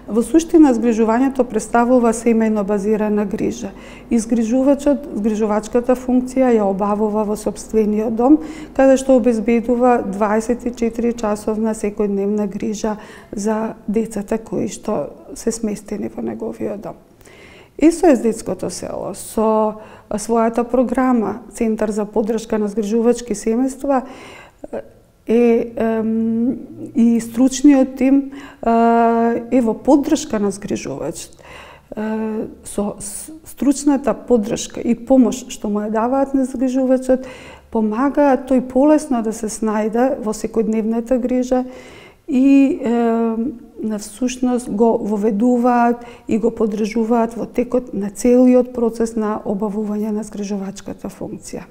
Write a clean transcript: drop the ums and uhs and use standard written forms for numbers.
Во суштина, згрижувањето представува семејно базирана грижа. И згрижувачката функција ја обавува во сопствениот дом, каде што обезбедува 24 часовна секојдневна грижа за децата кои што се сместени во неговиот дом. СОС детското село со својата програма Центар за поддршка на згрижувачки семејства и стручниот тим е во поддршка на згрижувач. Со стручната поддршка и помош што му ја даваат на згрижувачот, помагаат тој полесно да се снајде во секојдневната грижа и на всушност го воведуваат и го поддржуваат во текот на целиот процес на обавување на згрижувачката функција.